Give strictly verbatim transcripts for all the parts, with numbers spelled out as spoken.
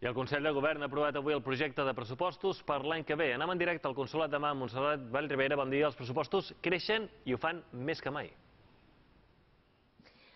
I el Consell de Govern ha aprovat avui el projecte de pressupostos per l'any que ve. Anem en directe al Consolat de Mar, Montserrat Vallribera. Bon dia. Els pressupostos creixen i ho fan més que mai.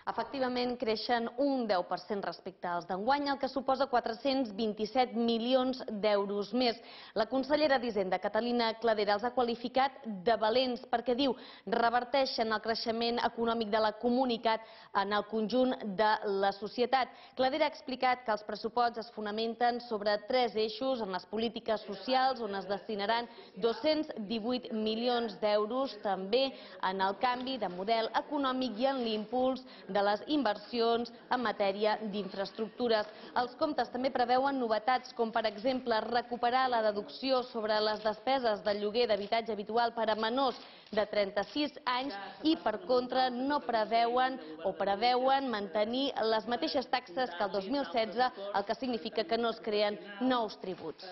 Efectivament, creixen un deu per cent respecte als d'enguany, el que suposa quatre-cents vint-i-set milions d'euros més. La consellera d'Hisenda, Catalina Cladera, els ha qualificat de valents perquè, diu, reverteixen el creixement econòmic de la comunitat en el conjunt de la societat. Cladera ha explicat que els pressupostos es fonamenten sobre tres eixos en les polítiques socials, on es destinaran dos-cents divuit milions d'euros, també en el canvi de model econòmic i en l'impuls de les inversions en matèria d'infraestructures. Els comptes també preveuen novetats, com per exemple recuperar la deducció sobre les despeses del lloguer d'habitatge habitual per a menors de trenta-sis anys i, per contra, no preveuen o preveuen mantenir les mateixes taxes que el dos mil setze, el que significa que no es creen nous tributs.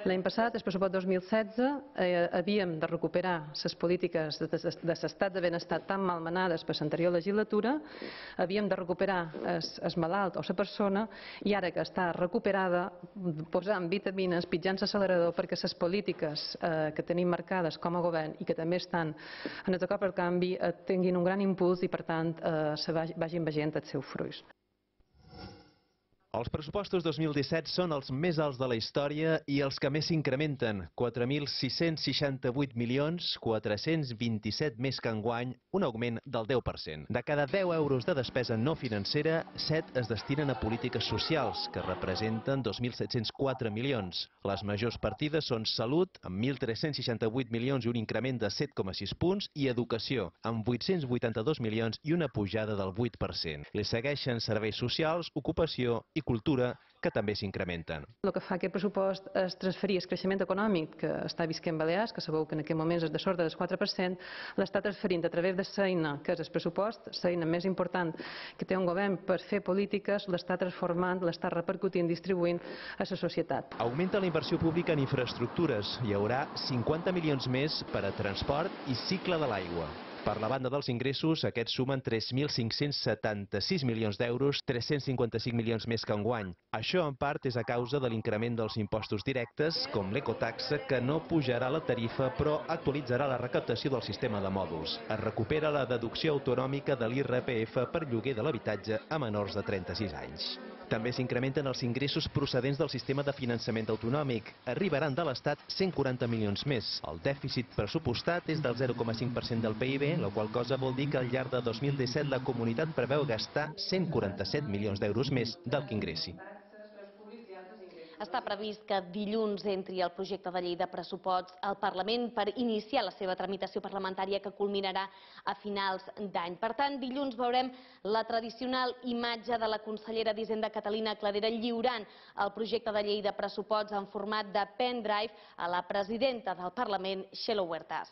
L'any passat, el pressupost dos mil setze, eh, havíem de recuperar les polítiques de, de, de l'estat de benestar tan malmenades per l'anterior legislatura, havíem de recuperar el malalt o la persona, i ara que està recuperada, posant vitamines, pitjant l'accelerador perquè les polítiques eh, que tenim marcades com a govern i que també estan en el acord pel canvi eh, tinguin un gran impuls i, per tant, eh, se vagin veient els seus fruits. Els pressupostos dos mil disset són els més alts de la història i els que més s'incrementen, quatre mil sis-cents seixanta-vuit milions quatre-cents vint-i-set més que enguany, un augment del deu per cent. De cada deu euros de despesa no financera, set es destinen a polítiques socials, que representen dos mil set-cents quatre milions. Les majors partides són Salut, amb mil tres-cents seixanta-vuit milions i un increment de set coma sis punts, i Educació, amb vuit-cents vuitanta-dos milions i una pujada del vuit per cent. Li segueixen Serveis Socials, Ocupació i Cultura, que també s'incrementen. El que fa aquest pressupost és transferir el creixement econòmic que està visquent Balears, que sabeu que en aquest moment és de sort del quatre per cent, l'està transferint a través de l'eina que és el pressupost, l'eina més important que té un govern per fer polítiques, l'està transformant, l'està repercutint, distribuint a la societat. Augmenta la inversió pública en infraestructures. Hi haurà cinquanta milions més per a transport i cicle de l'aigua. Per la banda dels ingressos, aquests sumen tres mil cinc-cents setanta-sis milions d'euros, tres-cents cinquanta-cinc milions més que enguany. Això, en part, és a causa de l'increment dels impostos directes, com l'ecotaxa, que no pujarà la tarifa, però actualitzarà la recaptació del sistema de mòduls. Es recupera la deducció autonòmica de l'I R P F per lloguer de l'habitatge a menors de trenta-sis anys. També s'incrementen els ingressos procedents del sistema de finançament autonòmic. Arribaran de l'Estat cent quaranta milions més. El dèficit pressupostat és del zero coma cinc per cent del P I B, la qual cosa vol dir que al llarg de dos mil disset la comunitat preveu gastar cent quaranta-set milions d'euros més del que ingressi. Està previst que dilluns entri el projecte de llei de pressuposts al Parlament per iniciar la seva tramitació parlamentària, que culminarà a finals d'any. Per tant, dilluns veurem la tradicional imatge de la consellera d'Hisenda, Catalina Cladera, lliurant el projecte de llei de pressuposts en format de pendrive a la presidenta del Parlament, Txelo Huertas.